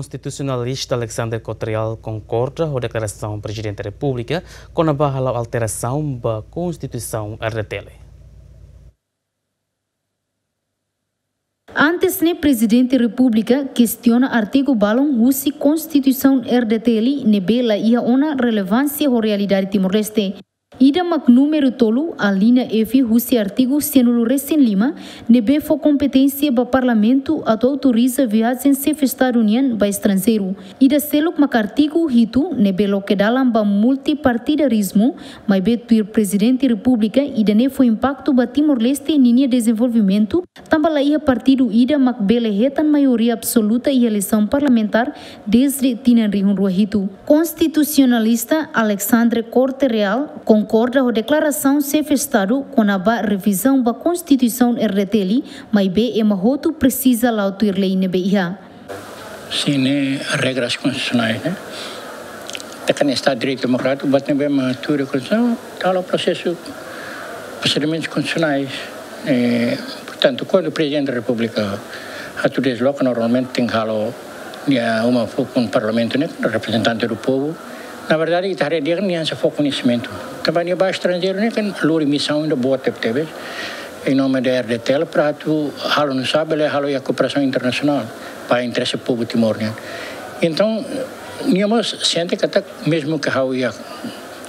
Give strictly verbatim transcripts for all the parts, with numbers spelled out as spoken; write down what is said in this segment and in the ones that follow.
Konstitusionalista Alexandre Corte Real konkorda ho deklarasaun Prezidente Repúblika kona-ba hala'o alterasaun ba Konstituisaun R D T L. Antes ne'e Prezidente Repúblika kestiona artigu balun husi Konstituisaun R D T L ne'ebé la iha ona relevánsia ho realidade Timor-Leste. Ida mak númeru tolu, alínea F husi artigu sianulu resin lima, ne'ebé fó kompeténsia ba Parlamentu atu autoriza viajen Xefe Estadu nian ba estranjeiru. Ida seluk mak artigu hitu, ne'ebé loke dalan ba multipartidarizmu, maibé tuir Prezidente Repúblika, ida-ne'e fó impaktu ba Timor-Leste ninia dezenvolvimentu, tanba la iha partidu ida mak bele hetan maioria absoluta iha eleisaun parlamentár dezde tinan rihun rua hitu. Konstitusionalista Alexandre Corte Real konkorda ho deklarasaun Xefe Estadu kona-ba revizaun ba Konstituisaun R D T L, maibé ema hotu presiza la'o tuir lei ne'ebé iha. Sin, ne'e regras konstitusionais, ne'e. Ita kan Estadu Direitu Demokrátiku, buat ne'ebé mak tuir Konstituisaun, halo prosesu, prosedimentus konstitusionais. Eh, portantu, kuandu Prezidente da Repúblika atu dezloka, normalmente tenke halo nia uma fó kona Parlamentu, ne'e, reprezentante do povu. Na verdade, ita haree di'ak nia hanesan fó koñesimentu. Tanba nia ba estranjeiru ne'e kan lori misaun ida boot tebetebes, em nome da R D T L, para atu halo, não sabe, halo iha kooperasaun internasionál, ba interese povu Timor nian. Entaun, nia mós sente katak, mezmu ke ha'u iha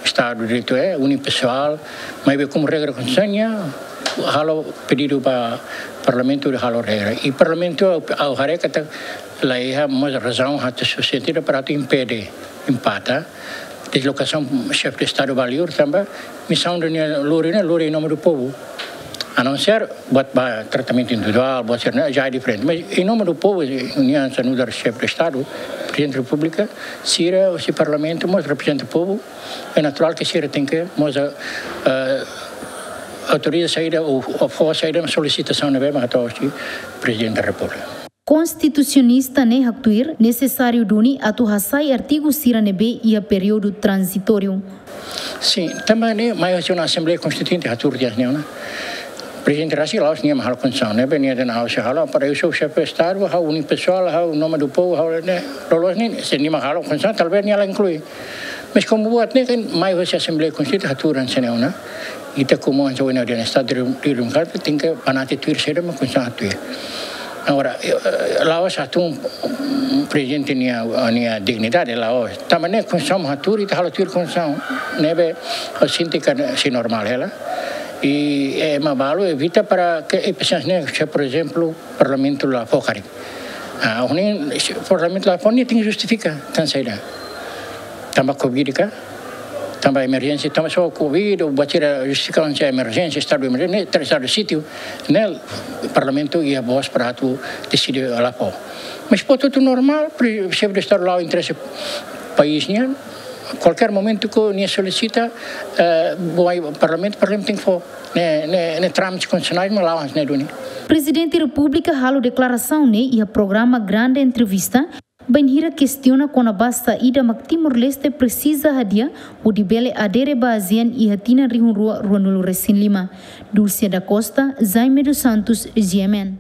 Estadu Direitu, é unipessoal, maibé komu regra konstitusionál, halo pedidu ba Parlamentu atu halo regra. I Parlamentu, ha'u haree katak la iha mós razaun atu susitui para atu impede, empata dezlokasaun Xefe de Estadu ba liur, tanba misaun ida nia lori ne'e, lori em nome do povo. A não ser buat ba tratamentu individuál, buat sira-ne'e, já é diferente. Mas em nome do povo, nia hanesan nu'udar Xefe de Estadu, Prezidente da Repúblika, sira, husi Parlamentu, mós reprezenta povu, é naturál ke sira tenke mós, eh, autoriza saida ou, ou fó saida, solisitasaun ne'ebé mak hato'o husi Prezidente da Repúblika. Konstitusionista ne'e haktuir nesesáriu duni atu hasai artigu sira ne'ebé iha períodu tranzitóriu. Sin, tanba ne'e mai husi ona Asembleia Konstituinte hatuur tiha hanesan ne'e ona. Prezidente rasik la'ós nia mak halo konstituisaun, ne'ebé nia dehan ha'u sei halo, para eu sou chefe de Estado, ha'u unipessoal, ha'u em nome do povo, ha'u ne'e, loloos ne'e, se nia mak halo konstituisaun, talvés nia la inklui. Mas komu buat ne'e kan mai husi Asembleia Konstituinte hatuur hanesan ne'e ona. Ita komu hanesan ohin ha'u dehan Estadu Direitu Demokrátiku tenke banati tuir saida mak Konstituisaun hatuur. Agora, eh, la'ós hatún Prezidente nia, nia dignidade, la'ós. Tanba ne'e Konstituisaun hatuur, ita halo tuir Konstituisaun. Ne'ebé, ha'u sente katak sei normál hela. I, eh, ema balu evita para ke, eh, pessoas ne'e, se, por exemplo, Parlamentu la fó karik. Ah, ohin, se Parlamentu la fó, nia tenke justifika, tan saida. Tanba Covid ka, tanba emerjénsia, tanba só Covid, ou buat sira justifika hanesan emerjénsia, estadu de emerjénsia, ne'e, estadu de sítio, ne'e Parlamentu iha vós para atu deside la fó. Mas buat hotu normál, pre-, Xefe de Estadu la'o interese país nian, kualkér momentu ke nia solisita, eh, ba Parlamentu, Parlamentu tenke fó. Ne'e, ne'e, ne'e trámites konstitusionais, mas la'o hanesan ne'e duni. Prezidente Repúblika halo deklarasaun ne'e iha programa Grande Entrevista, bainhira kestiona kona-ba saida mak Timor-Leste presiza hadi'a hodi bele adere ba ASEAN iha tinan rihun rua ruanulu resin lima. Dulce da Costa, Jaime dos Santos, G M N.